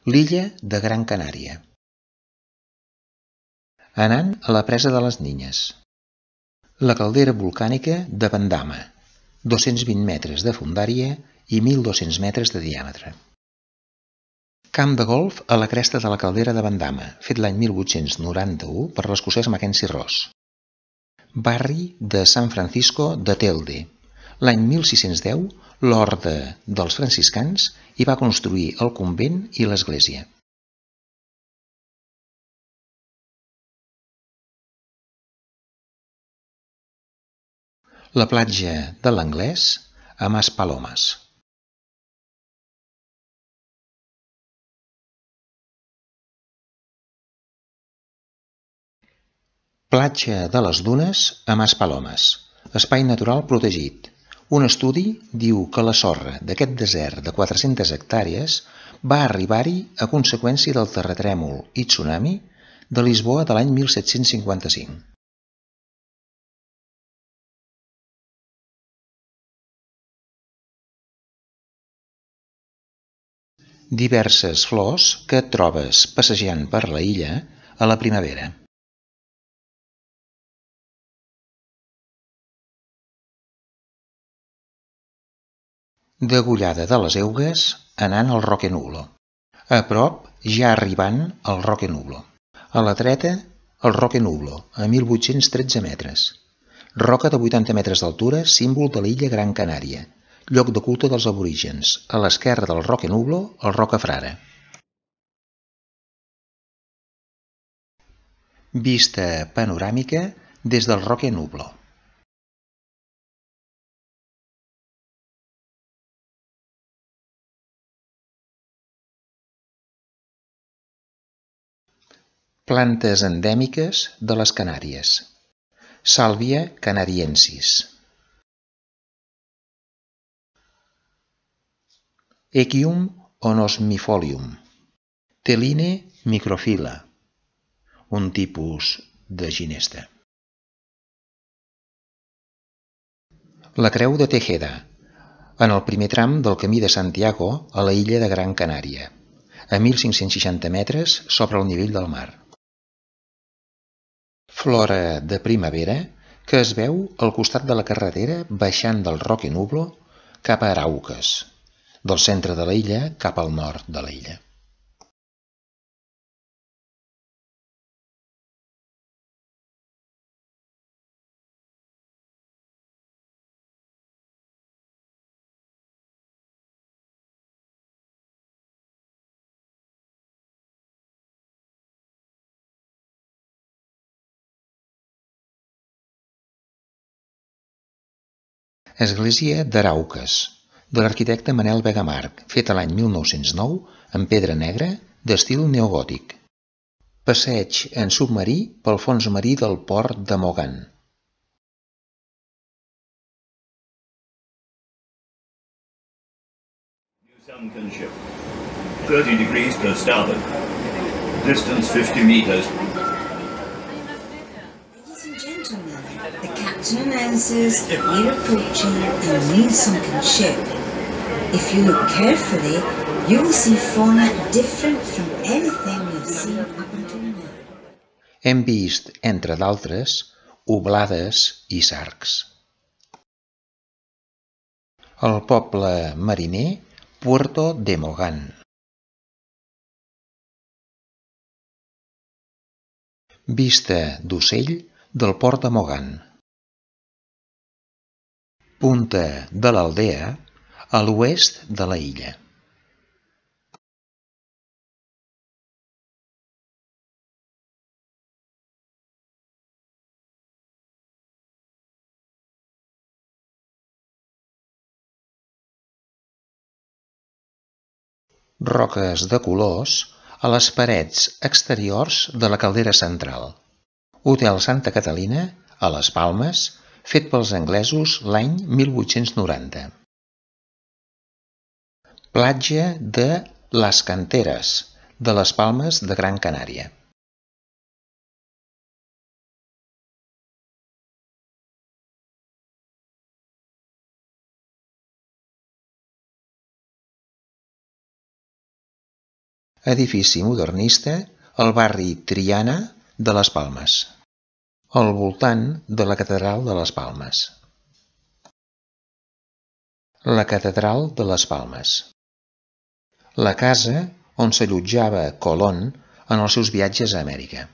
l'illa de Gran Canària. Anant a la presa de les Niñes. La caldera volcànica de Bandama, 220 metres de fondària i 1.200 metres de diàmetre. Camp de golf a la cresta de la caldera de Bandama, fet l'any 1891 per l'escocès Mackenzie Ross. Barri de San Francisco de Telde. L'any 1610, l'orde dels franciscans hi va construir el convent i l'església. La platja de l'Anglès a Maspalomas. Platja de les Dunes a Maspalomas, espai natural protegit. Un estudi diu que la sorra d'aquest desert de 400 hectàrees va arribar-hi a conseqüència del terratrèmol i tsunami de Lisboa de l'any 1755. Diverses flors que et trobes passejant per la illa a la primavera. Degollada de les Eugues anant al Roque Nublo. A prop, ja arribant al Roque Nublo. A la dreta, el Roque Nublo, a 1.813 metres. Roca de 80 metres d'altura, símbol de l'illa Gran Canària, lloc de culte dels aborígens. A l'esquerra del Roque Nublo, el Rocafrara. Vista panoràmica des del Roque Nublo. Plantes endèmiques de les Canàries. Sàlvia canariensis. Echium onosmifolium. Teline microphylla, un tipus de ginesta. La creu de Tejeda, en el primer tram del Camí de Santiago a la illa de Gran Canària, a 1.560 metres sobre el nivell del mar. Flora de primavera que es veu al costat de la carretera baixant del Roque Nublo cap a Arauques, del centre de la illa cap al nord de la illa. Església d'Arauques, de l'arquitecte Manel Vega March, feta l'any 1909 en pedra negra d'estil neogòtic. Passeig en submarí pel fons marí del port de Mogan. Sunken ship, 30 degrees per starboard, distance 50 meters. Ladies and gentlemen, the captain announces we're approaching a new sunken ship. If you look carefully, you will see fauna different from anything we've seen up until now. Hem vist, entre d'altres, oblades i sargs. El poble mariner Puerto de Mogan. Vista d'ocell del port de Mogan. Punta de l'Aldea a l'oest de la illa. Roques de colors a les parets exteriors de la caldera central. Hotel Santa Catalina, a les Palmes, fet pels anglesos l'any 1890. Platja de Les Canteres, de les Palmes de Gran Canària. edifici modernista al barri Triana de Les Palmes, al voltant de la Catedral de Les Palmes. La Catedral de Les Palmes. La casa on s'allotjava Colón en els seus viatges a Amèrica.